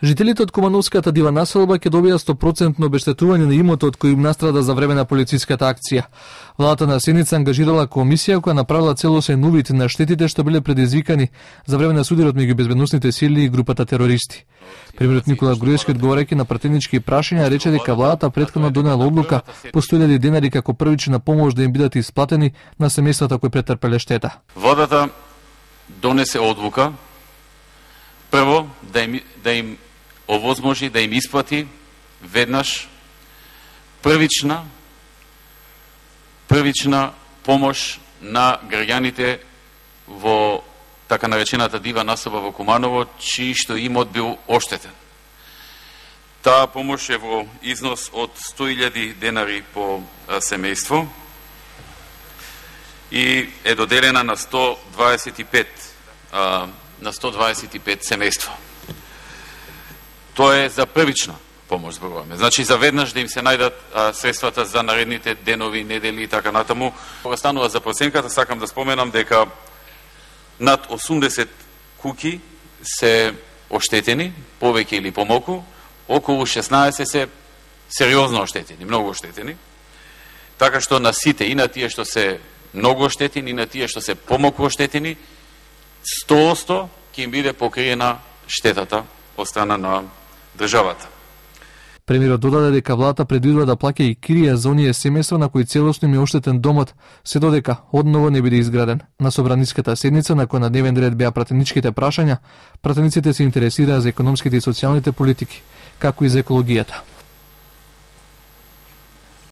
Жителите од Кумановската дива населба ќе добијат 100% обештетување на имотот кој им настрада за време на полициската акција. Владата на Сеница ангажирала комисија која направила целосен увид на штетите што биле предизвикани за време на сударот меѓу безбедносните сили и групата терористи. Премиерот Никола Груевски, одговарајќи на пратенички прашања, рече дека владата претходно донела одлука по 100.000 денари како првична помош да им бидат исплатени на семејствата кои претрпеле штета. Владата донесе одлука прво да им овозможи да им исплати веднаш првична помош на граѓаните во така наречената дива населба во Куманово, чиј што имот бил оштетен. Таа помош е во износ од 100.000 денари по семејство и е доделена на 125 семејства. Тоа е за првична помош зборуваме. Значи за веднаш да им се најдат средствата за наредните денови, недели и така натаму. Кога станува за проценката, сакам да споменам дека над 80 куќи се оштетени, повеќе или помалку, околу 16 се сериозно оштетени, многу оштетени. Така што на сите, и на тие што се многу оштетени, и на тие што се помалку оштетени, 100% ќе им биде покриена штетата од страна на државата. Премиерот додаде дека владата предвидува да плаќа и кирија за оние семејства на кои целосно им е оштетен домот, се додека одново не биде изграден. На собраниската седница на која на дневен ред беа пратеничките прашања, пратениците се интересираа за економските и социјалните политики, како и за екологијата.